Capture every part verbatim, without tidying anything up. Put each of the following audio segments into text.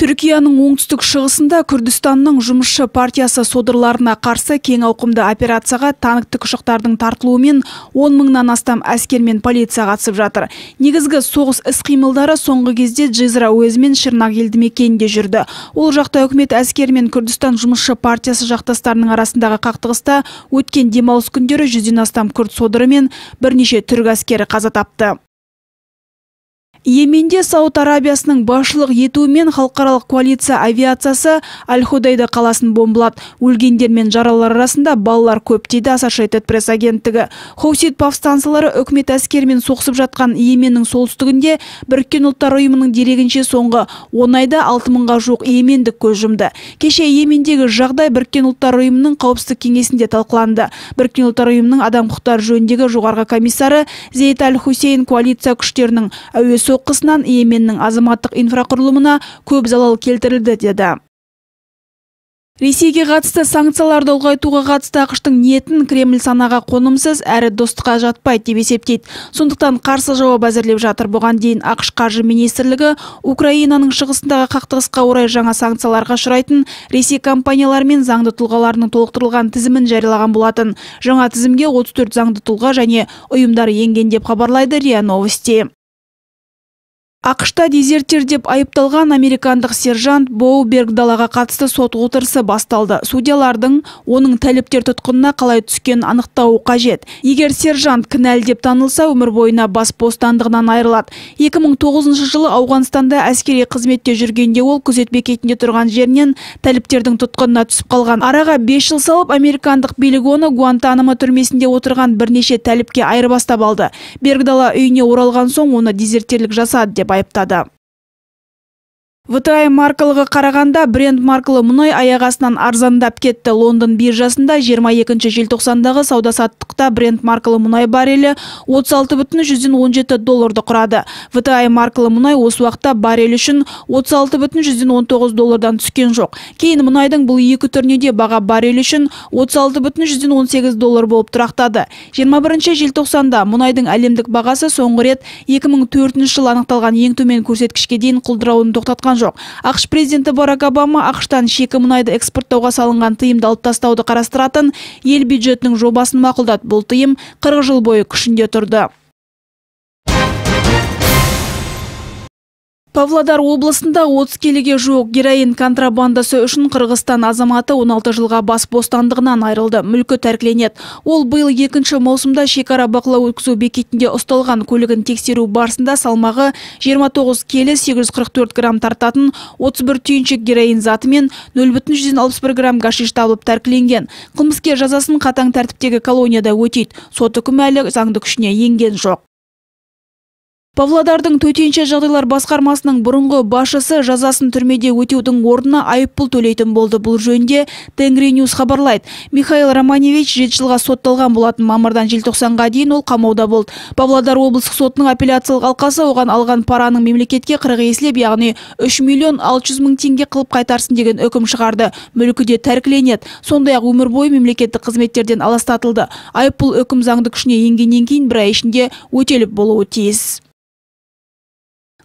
Түркияның оңтүстік шығысында Күрдістанның жұмысшы партиясы содырларына қарсы кең ауқымды операцияға танк тікұшақтардың тартылуымен он мыңнан астам әскер мен полиция қатысып жатыр. Негізгі соғыс іс-қимылдары соңғы кезде Джизра уезі мен Шырнақ елді мекенінде жүрді. Ол жақта үкімет әскер мен Күрдістан жұмысшы партиясы жақтастарының арасындағы қақтығыста өткен демалыс күндері жүзден астам күрд содыры мен бірнеше түрік әскері қаза тапты. Йеменде Сауд Арабиясының басшылық етуімен халықаралық коалиция авиациясы Аль-Худайда қаласын бомбылады. Өлгендер мен жаралар арасында балалар көп дейді Associated Press агенттігі. Хоусит повстанцылары үкімет әскерімен соғысып жатқан Йеменнің солтүстігінде Біріккен ұлттар ұйымының дерегінше соңғы он айда алты мыңға жуық йемендік көз жұмды. Кеше Йемендегі жағдай Біріккен ұлттар ұйымының қауіпсіздік кеңесінде талқыланды. Біріккен ұлттар ұйымының адам құқықтары жөніндегі жоғарғы комиссары Зейд Аль-Хусейн коалиция күштерінің әуе соққысынан Йеменнің азаматтық инфрақұрылымына көп залал келтірілді деді. Ресейге қатысты санкцияларды ұлғайтуға қатысты ақштың ниетін Кремль санаға қонымсыз әрі достыққа жатпайды деп есептейді. Сондықтан қарсы жауап әзірлеп жатыр. Бұған дейін ақш қаржы министрлігі Украинаның шығысындағы қақтығысқа орай жаңа санкцияларға ұшырайтын Ресей компаниялары мен заңды тұлғаларының толықтырылған тізімін жариялаған болатын. Жаңа тізімге отыз төрт заңды тұлға және ұйымдар енген деп хабарлайды РИА Новости. ақшта дезертир деп айыпталған американдық сержант Боу Бергдалаға қатысты сот отырысы басталды. Судьялардың оның тәліптер тұтқынына қалай түскен анықтауы қажет. Егер сержант кінәлі деп танылса, өмір бойына бас бостандығынан айырылады. екі мың тоғызыншы жылы Ауғанстанда әскери қызметте жүргенде ол күзет бекетінде тұрған жерінен тәліптердің тұтқынына түсіп қалған. Араға бес жыл салып, американдық билік оны Гуантанамо түрмесінде отырған бірнеше тәліпке айырбастап алды. Бергдала үйіне оралған соң оны дезертирлік жасады деп айыптады. вэ тэ ай маркалығы қарағанда Brent маркалы мұнай аяқ астынан арзандап кетті. Лондон биржасында жиырма екінші желтоқсандағы сауда-саттықта Brent маркалы мұнай баррелі отыз алты бүтін жүзден он жеті долларды құрады. вэ тэ ай маркалы мұнай осы уақытта баррель үшін отыз алты бүтін жүзден он тоғыз доллардан түскен жоқ. Кейін мұнайдың бұл екі түріне де баға баррель үшін отыз алты бүтін жүзден он сегіз доллар болып тұрақтады. жиырма бірінші желтоқсанда мұнайдың әлемдік бағасы соңғы рет екі мың төртінші жылы анықталған ең төмен көрсеткішке дейін құлдырауын тоқтатқан жоқ. ақш президенті Барак Обама ақштан шикі мұнайды экспорттауға салынған тыйымды алып тастауды қарастыратын ел бюджетінің жобасын мақұлдады. Бұл тыйым қырық жыл бойы күшінде тұрды. Павлодар облысында отыз келіге жуық героин контрабандасы үшін Қырғызстан азаматы он алты жылға бас бостандығынан айырылды. Мүлкі тәркіленеді. Ол биыл екінші маусымда шекара бақылау өткізу бекетінде ұсталған. Көлігін тексеру барысында салмағы жиырма тоғыз келі сегіз жүз қырық төрт грамм тартатын отыз бір түйіншек героин заты мен нөл бүтін жүзден алпыс бір грамм гашиш табылып тәркіленген. Қылмыскер жазасын қатаң тәртіптегі колонияда өтейді. Сот үкімі әлі заңды күшіне енген жоқ. Павлодардың төтенше жағдайлар басқармасының бұрынғы басшысы жазасын түрмеде өтеудің орнына айыппұл төлейтін болды. Бұл жөнінде Тенгриньюс хабарлайды. Михаил Романевич жеті жылға сотталған болатын. Мамырдан желтоқсанға дейін ол қамауда болды. Павлодар облыстық сотының апелляциялық алқасы оған алған параның мемлекетке қырық еселеп, яғни үш миллион алты жүз мың теңге қылып қайтарсын деген үкім шығарды. Мүлкі де тәркіленеді. Сондай-ақ өмір бойы мемлекеттік қызметтерден аластатылды. Айыппұл үкім заңды күшіне енгеннен кейін бір ай ішінде өтеліп болуы тиіс.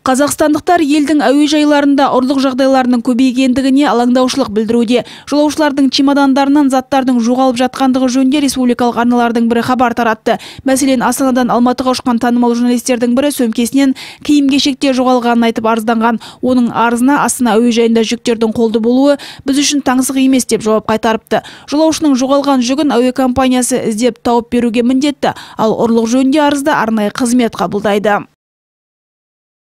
Қазақстандықтар елдің әуежайларында ұрлық жағдайларының көбейгендігіне алаңдаушылық білдіруде. Жолаушылардың чемодандарынан заттардың жоғалып жатқандығы жөнінде республикалық арналардың бірі хабар таратты. Мәселен, Астанадан Алматыға ұшқан танымал журналистердің бірі сөмкесінен киім-кешекте жоғалғанын айтып арызданған. Оның арызына Астана әуежайында жүктердің қолды болуы біз үшін таңсық емес деп жауап қайтарыпты. Жолаушының жоғалған жүгін әуе компаниясы іздеп тауып беруге міндетті, ал ұрлық жөнінде арызды арнайы қызмет қабылдайды.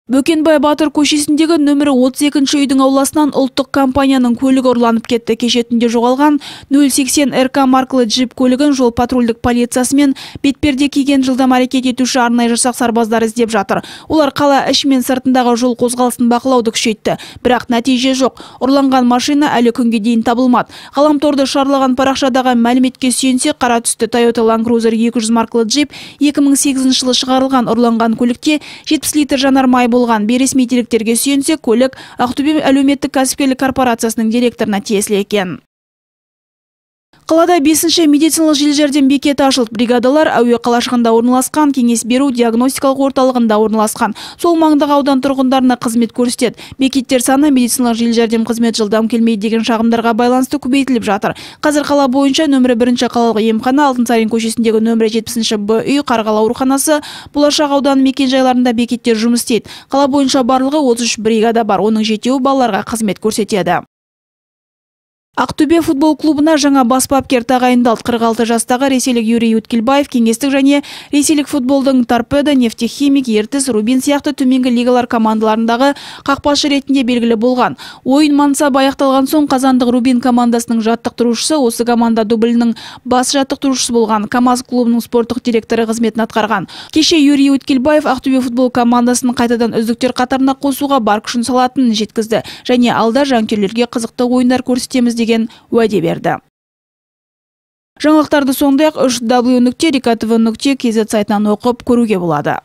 Бөкенбай Батыр көшесіндегі нөмірі отыз екінші үйдің ауласынан ұлттық компанияның көлігі ұрланып кетті. Кеше түнде жоғалған нөл сексен эр ка маркалы джип көлігін жол патрульдік полициясы мен бетперде киген жылдам әрекет етуші арнайы жасақ сарбаздар іздеп жатыр. Олар қала іші мен сыртындағы жол қозғалысын бақылауды күшейтті. Бірақ нәтиже жоқ. Ұрланған машина әлі күнге дейін табылмады. Ғаламторды шарлаған парақшадағы мәліметке сүйенсе, қара түсті Toyota Land Cruiser екі жүз маркалы джип екі мың сегізінші жылы шығарылған. Ұрланған көлікте жетпіс литр жанармай болған. Бейресми деректерге сүйенсе, көлік Ақтөбе әлеуметтік кәсіпкерлік корпорациясының директорына тиесілі екен. Қалада бесінші медициналық жедел жәрдем бекеті ашылды. Бригадалар әуе қалашығында орналасқан, кеңес беру диагностикалық орталығында орналасқан. Сол маңдағы аудан тұрғындарына қызмет көрсетеді. Бекеттер саны медициналық жедел жәрдем қызмет жылдам келмейді деген шағымдарға байланысты көбейтіліп жатыр. Қазір қала бойынша нөмірі бірінші қалалық емхана, Алтынсарин көшесіндегі нөмірі жетпісінші Б үй, Қарғалы ауруханасы, Болашақ ауданы мекен-жайларында бекеттер жұмыс істейді. Қала бойынша барлығы отыз үш бригада бар, оның жетеуі балаларға қызмет көрсетеді. Ақтөбе футбол клубына жаңа бас бапкер тағайындалды. қырық алты жастағы ресейлік Юрий Уткелбаев кеңестік және ресейлік футболдың Торпедо, Нефтехимик, Ертіс, Рубин сияқты төменгі лигалар командаларындағы қақпашы ретінде белгілі болған. Ойын мансабы аяқталған соң қазандық Рубин командасының жаттықтырушысы, осы команда дублінің бас жаттықтырушысы болған. КамАЗ клубының спорттық директоры қызметін атқарған. Кеше Юрий Уткелбаев Ақтөбе футбол командасын қайтадан үздіктер қатарына қосуға бар күшін салатынын жеткізді және алда жанкүйерлерге қызықты ойындар көрсетеміз деген уәде берді. Жаңалықтарды сондай-ақ үш дабл ю нүкте рекатв нүкте кз сайтынан оқып көруге болады.